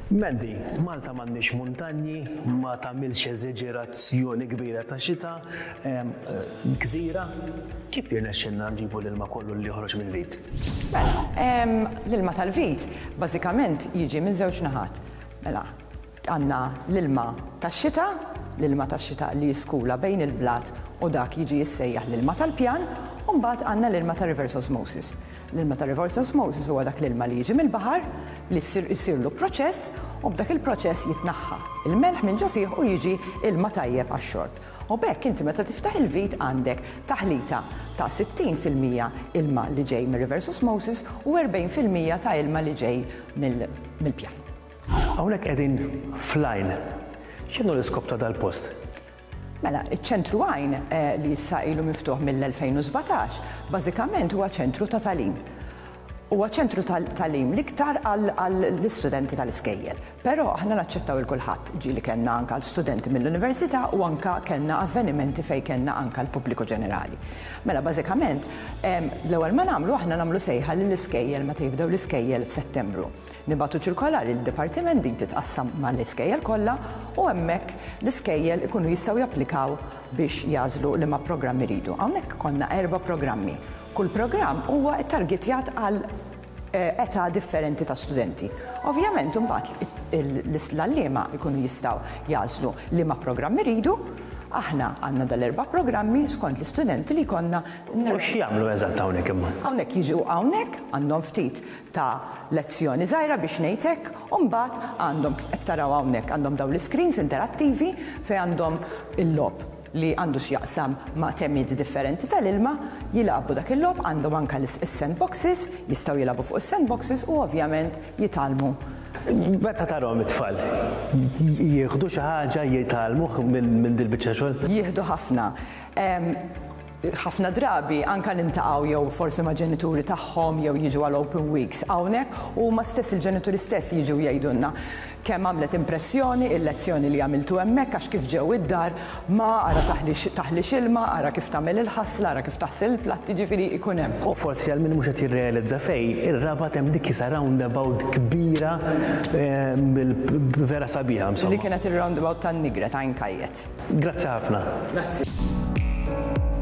Mandy, Malta m'għandniex muntanji, ma tagħmilx eżeġerazzjoni kbira ta' xita, gżira, kif jirnexxilna nġibu l-ilma kollu li joħroġ mill-vit? Mela, l-ilma tal-vit bażikament jiġi minn żewġ naħat. Mela, għandna l-ilma tax-xita, l-ilma tax-xita li jiskula bejn il-blat u dak jiġi jissejjaħ l-ilma tal-pjan, u mbagħad għandna l-ilma ta' reverse osmosis. L-ilma ta' reverse osmosis huwa dak l-ilma li jiġi mill-baħar li jsirlu proċess u b'dak il-proċess jitnaħħa il-melħ minn ġo fih u jiġi ilma tajjeb għax-xorb. U b'hekk inti meta tiftaħ il-vit għandek taħlita ta' 60% ilma li ġej mir-reverse osmosis u 40% ta' ilma li ġej mill-pjan. Hawnhekk qegħdin fl-għajn. X'inhu l-iskop ta' dal-post? Mela, iċ-Ċentru Għajn, li issa ilu miftuħ mill-2017, bażikament huwa ċentru ta' tagħlim. Huwa ċentru ta' tagħlim l-iktar għall-istudenti tal-iskejjel. Però aħna naċċettaw 'il kulħadd. Ġieli kellna anke studenti mill-università u anke kellna avvenimenti fejn kellna anke l-pubbliku ġenerali. Mela, bażikament, l-ewwel ma nagħmlu aħna nagħmlu sejħa lill-iskejjel meta jibdew l-iskejjel f'Settembru. Nibagħtu ċirkolari lid-dipartiment din titqassam mal-iskejjel kollha u hemmhekk l-iskejjel ikunu jistgħu japplikaw biex jagħżlu liema programm iridu. Hawnhekk ikollna erba' programmi. Kull programm huwa ttargetjat għal età differenti ta' studenti. Ovvjament imbagħad l-għalliema jkunu jistgħu jagħżlu liema programm iridu. Aħna għandna dal-erba' programmi skont l-istudenti li jkollna. U x'jagħmlu eżatt hawnhekk imma? Hawnhekk jiġu hawnhekk għandhom ftit ta' lezzjoni żgħira biex ngħid hekk, u mbagħad għandhom kif qed taraw hawnhekk għandhom dawn l-iscreens interattivi fejn għandhom il-logħob li għandu x'jaqsam ma' temiet differenti tal-ilma, jilagħbu dak il-logħob, għandhom anke is-sandboxes, jistgħu jilagħbu fuq is-sandboxes u ovvjament jitgħallmu. Meta tarahom it-tfal, jieħdu xi ħaġa jitgħallmuh minn dil-biċċa xogħol? Jieħdu ħafna. Ħafna drabi anke niltaqgħu jew forsi ma' ġenituri tagħhom jew jiġu għal open weeks hawnhekk u huma stess il-ġenituri stess jiġu jgħidulna kemm għamlet impressjoni il-lezzjoni li għamiltu hemmhekk għax kif ġew id-dar ma ara taħlix taħlix ilma, ara kif tagħmel il-ħasla, ara kif taħsel il-platti, ġifieri jkun hemm. U forsi għal min mhux qed jirrealizza fejn, ir-Rabat hemm dik isa roundabout kbira vera sabiħa insomma. Li kienet ir-roundabout tan-Nigret, Għajn Kajjet. Grazzi ħafna. Grazzi.